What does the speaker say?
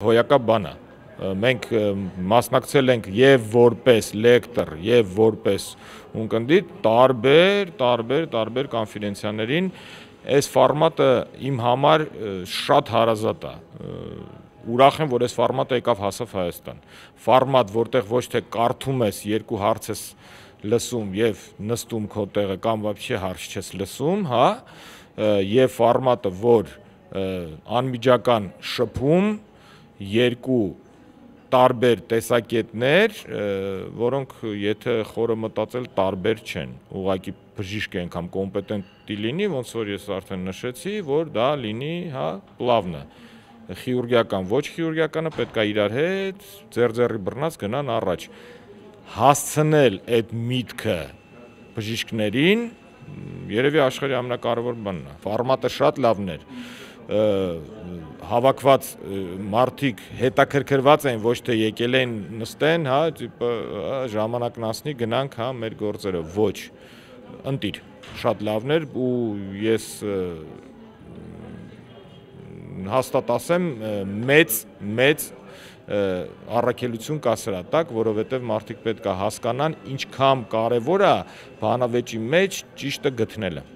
Հոյակապ բան է։ Մենք մասնակցել ենք եւ որպես լեկտոր, եւ որպես ունկնդիր տարբեր կոնֆերենցիաներին։ Այս ֆորմատը իմ համար շատ հարազատ է։ Ուրախ եմ, որ այս ֆորմատը եկավ հասավ Հայաստան։ Ֆորմատ, որտեղ ոչ թե կարդում ես, երկու հարց ես լսում եւ նստում քո տեղը կամ вообще հարց չես լսում, հա, եւ ֆորմատը, որ անմիջական շփում, երկու տարբեր տեսակետներ, որոնք եթե խորը մտածել տարբեր չեն, ուղղակի բժիշկը անգամ կոմպետենտի լինի, ոնց որ ես արդեն նշեցի, որ դա լինի, հա, պլավնը, խիրուրգիական, ոչ խիրուրգիականը պետք է իրար հետ ձեռ-ձեռի բռնած գնան առաջ, հասցնել այդ միտքը բժիշկներին, երևի աշխարհի ամենակարևոր բանն է, ֆորմատը շատ լավն էր, հավաքված մարդիկ հետաքրքրված են, ոչ թե եկել են նստեն, հա, ժամանակն անցնի, գնանք, հա, մեր գործերը, ոչ, ընտիր, շատ լավն էր ու ես հաստատ ասեմ մեծ առաքելություն կա սրա տակ, որովհետև մարդիկ պետք է հասկանան ինչքան կարևոր է բանավեճի մեջ ճիշտը գտնելը։